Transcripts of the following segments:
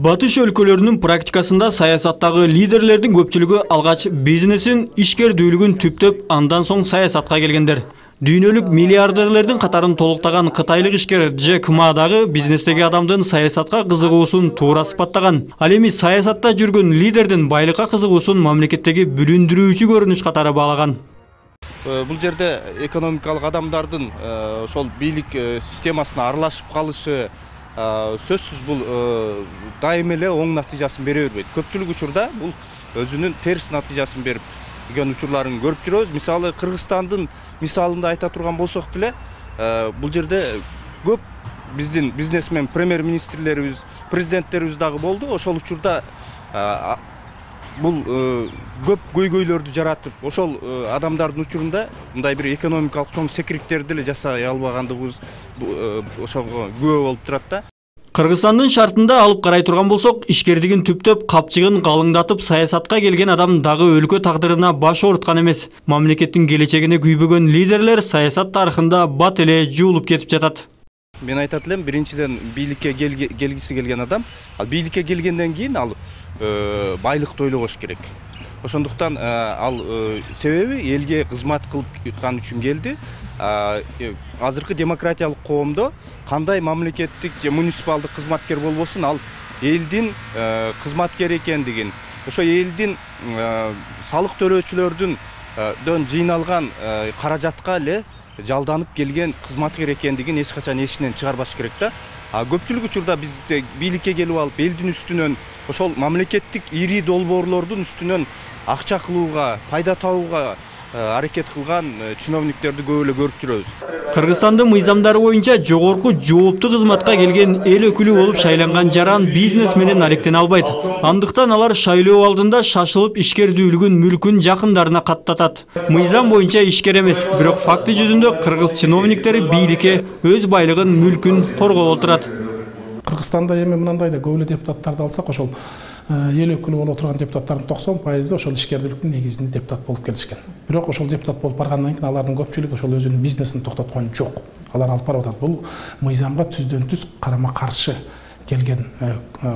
Батыш өлкөлөрүнүн практикасында саясаттагы лидерлердин көпчүлүгү алгач бизнесин, ишкердүүлүгүн түптөп, андан соң саясатка келгендер. Дүйнөлүк миллиардерлердин катарын толуктаган кытайлык ишкер Джек Ма дагы бизнестеги адамдын саясатка кызыгуусун туура сыпаттаган. Ал эми саясатта жүргөн лидердин байлыкка кызыгуусун мамлекеттеги бүлүндүрүүчү көрүнүш катары баалаган. Бул жерде экономикалык адамдардын ошол бийлик системасына аралашып калышы сөзсүз бул дайым эле оң натыйжасын бере бербейт. Көпчүлүк учурда бул өзүнүн терс натыйжасын берип жүргөн учурларын көрүп жүрөбүз. Мисалы Кыргызстандын мисалында айта турган болсок деле, бул жерде көп биздин бизнесмен премьер-министрлерибиз, президенттерибиз дагы болду. Ошол учурда бул көп көйгөйлөрдү жаратып, ошол адамдардын учурунда мындай бир экономикалык чоң секириктерди эле жасай албагандыгыбыз ошого күбө болуп турат да. Кыргызстандын шартында алып карай турган болсок, ишкердигин түптөп, капчыгын калыңдатып саясатка келген адам дагы өлкө тагдырына баш ооруткан эмес. Мамлекеттин келечегине күйбөгөн лидерлер саясат тарыхында бат эле жуулуп кетип жатат. Мен айтат элем, биринчиден бийликке келгиси келген адам, ал бийликке келгенден кийин ал байлыкты ойлогош керек. Ошондуктан ал себеби элге кызмат кылган үчүн келди. Азыркы демократиялык коомдо кандай мамлекеттик же муниципалдык кызматкер болбосун, ал элдин кызматкери экендигин, ошо элдин салык төлөөчүлөрдүн жыйналган каражатка эле жалданып келген кызматкер экендигин эч качан эсинен чыгарбаш керек да. Көпчүлүк учурда биз бийликке келип алып, элдин үстүнөн, ошол мамлекеттик ири долбоорлордун үстүнөн акча кылууга, пайда табууга аракет кылган чиновниктерди көп эле көрүп жүрөбүз. Кыргызстандын мыйзамдары боюнча жогорку жооптуу кызматка келген эл өкүлү болуп шайланган жаран бизнес менен алектене албайт. Андыктан алар шайлоо алдында шашылып ишкердүүлүгүн, мүлкүн жакындарына каттатат. Мыйзам боюнча ишкер эмес, бирок факты жүзүндө кыргыз чиновниктери бийликке өз байлыгын, мүлкүн коргоп отурат. Кыргызстанда эми мындай да көп эле депутаттарды алсак, ошол эл өкүлү болуп отурган депутаттардын 90% ошол ишкердүүлүктүн негизинде депутат болуп келишкен. Бирок ошол депутат болуп баргандан кийин алардын көпчүлүгү ошол өзүнүн бизнесин токтоткон жок. Алар алып барып атат. Бул мыйзамга түздөн түз карама каршы келген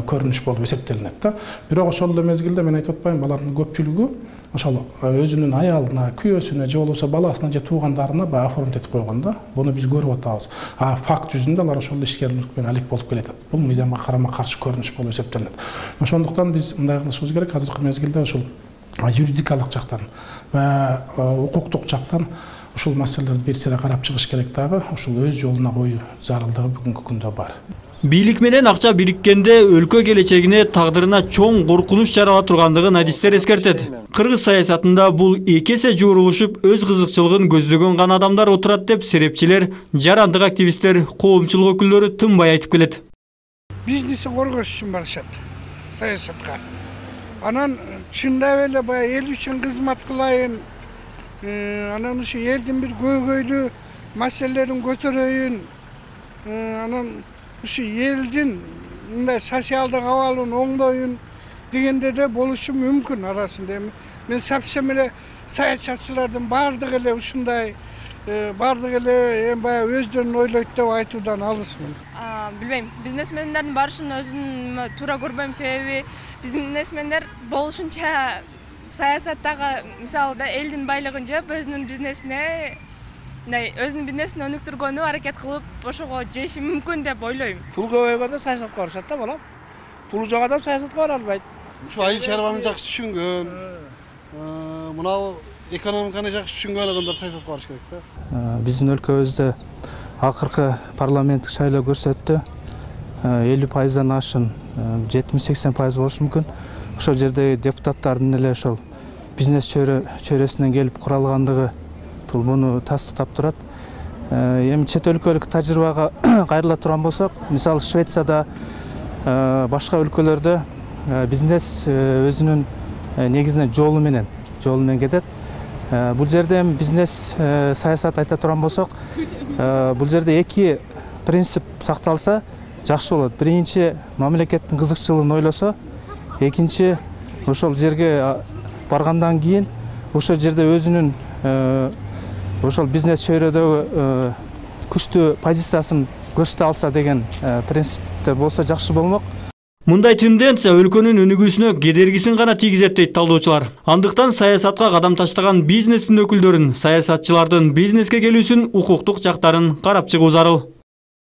көрүнүш болуп эсептелинет да. Бирок ошол эле мезгилде мен айтып атпайм, алардын көпчүлүгү ошол өзүнүн аялына, күйөөсүнө же болбосо баласына же туугандарына баягы оформить этип койгон да. Буну биз көрүп атабыз. Факт жүзүндө алар ошол ишкерлик менен алек болуп келет. Бул мыйзамга карама каршы көрүнүш болуп эсептелинет. Ошондуктан биз мындай кылышыбыз керек. Азыркы мезгилде ошол юридикалык жактан va укуктук жактан ушул маселелерди бир сыйра карап чыгыш керек дагы. Ушул өз жолуна коюу зарылдыгы бүгүнкү күндө бар. Бийлик менен акча бириккенде өлкө келечегине, тагдырына чоң коркунуч жарала тургандыгын адистер эскертет. Кыргыз саясатында бул эки эсе жуурулушуп, өз кызыкчылыгын көздөгөн гана адамдар отурат деп серепчилер, жарандык активисттер, коомчулук өкүлдөрү тынбай айтып келет. Бизнесин коргош үчүн барышат саясатка. Анан чындап эле баягы эл үчүн кызмат кылайын, анан ушу элдин бир көйгөйлүү маселелерин көтөрөйүн, анан ушу элдин мындай социалдык абалын оңдоюн дегенде де болушу мүмкүн арасында. Мен совсем эле саячатчылардын баардыгы эле ушундай, баардыгы эле баягы өздөрүн ойлойт деп айтуудан алысмын. Билбейм, бизнесмендердин барышын өзүм туура көрбөйм, себеби бизнесмендер болушунча саясаттагы мисалда элдин байлыгын жеп, өзүнүн бизнесине өзүнүн бизнесин өнүктүргөнү аракет кылып, ошого жеши мүмкүн деп ойлойм. Пул көбөйгөндө саясатка барышат да, балам. Пулу жок адам саясатка бара албайт. Ушу айыл чарбаны жакшы түшүнгөн, мынау экономиканы жакшы түшүнгөн адамдар саясатка барыш керек да. Биздин өлкөбүздө акыркы парламенттик шайлоо көрсөттү. 50%дан ашын 70-80% болушу мүмкүн. Ошол жердеги депутаттардын эле ошол бизнес чөйрөсүнөн келип куралгандыгы бул муну тастыктап турат. Эми чет өлкөлүк тажрыйбага кайрыла турган болсок, мисалы Швецияда, башка өлкөлөрдө бизнес өзүнүн негизинен жолу менен кетет. Бул жерде бизнес саясат айта турган болсок, бул жерде эки принцип сакталса жакшы болот. Биринчи, мамлекеттин кызыкчылыгын ойлосо, экинчи, ошол жерге баргандан кийин ошол жерде өзүнүн ошол бизнес чөйрөдөгү күчтүү позициясын көрсөтө алса деген принципте болсо жакшы болмок. Мындай тенденция өлкөнүн өнүгүүсүнө кедергисин гана тийгизет дейт талдоочулар. Андыктан саясатка кадам таштаган бизнестин өкүлдөрүн, саясатчылардын бизнеске келүүсүн, укуктук жактарын карап чыгуу зарыл.